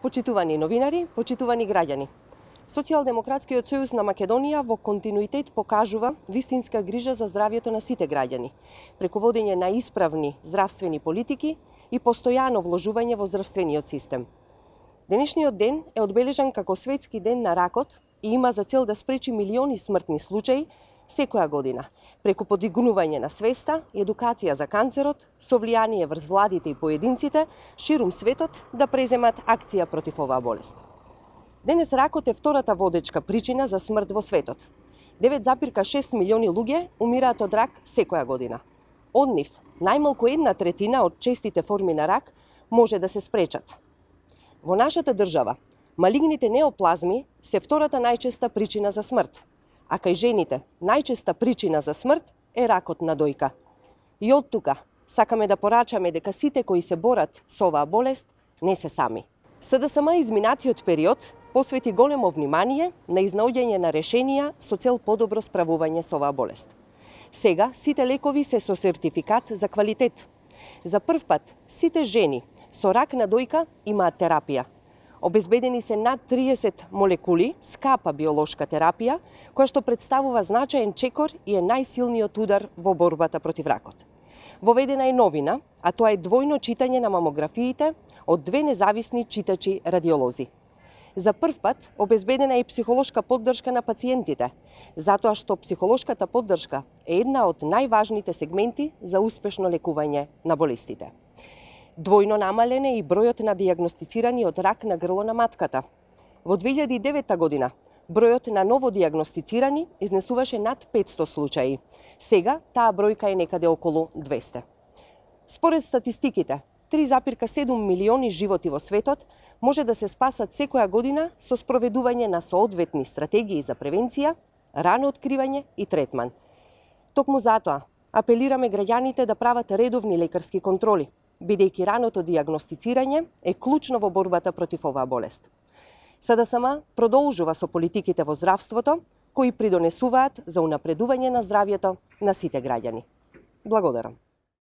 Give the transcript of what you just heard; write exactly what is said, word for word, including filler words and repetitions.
Почитувани новинари, почитувани граѓани. Социјалдемократскиот сојуз на Македонија во континуитет покажува вистинска грижа за здравјето на сите граѓани, преку водење на исправни здравствени политики и постојано вложување во здравствениот систем. Денешниот ден е одбележан како светски ден на ракот и има за цел да спречи милиони смртни случаи секоја година, преку подигнување на свеста и едукација за канцерот, со влијание врз владите и поединците ширум светот да преземат акција против оваа болест. Денес ракот е втората водечка причина за смрт во светот. девет запирка шест милиони луѓе умираат од рак секоја година. Од нив, најмалку една третина од честите форми на рак може да се спречат. Во нашата држава, малигните неоплазми се втората најчеста причина за смрт, а кај жените најчеста причина за смрт е ракот на дојка. И од тука сакаме да порачаме дека сите кои се борат со оваа болест не се сами. СДСМ изминатиот период посвети големо внимание на изнаоѓање на решенија со цел подобро справување со оваа болест. Сега сите лекови се со сертификат за квалитет. За прв пат сите жени со рак на дојка имаат терапија. Обезбедени се над триесет молекули скапа биолошка терапија, која што представува значаен чекор и е најсилниот удар во борбата против ракот. Воведена е новина, а тоа е двојно читање на мамографиите од две независни читачи радиолози. За прв пат обезбедена е психолошка поддршка на пациентите, затоа што психолошката поддршка е една од најважните сегменти за успешно лекување на болестите. Двојно намален е и бројот на дијагностицирани од рак на грло на матката. Во две илјади и девета година бројот на новодијагностицирани изнесуваше над петсто случаи. Сега таа бројка е некаде околу двесте. Според статистиките, три запирка седум милиони животи во светот може да се спасат секоја година со спроведување на соодветни стратегии за превенција, рано откривање и третман. Токму затоа апелираме граѓаните да прават редовни лекарски контроли, бидејќи раното дијагностицирање е клучно во борбата против оваа болест. СДСМ продолжува со политиките во здравството, кои придонесуваат за унапредување на здравјето на сите граѓани. Благодарам.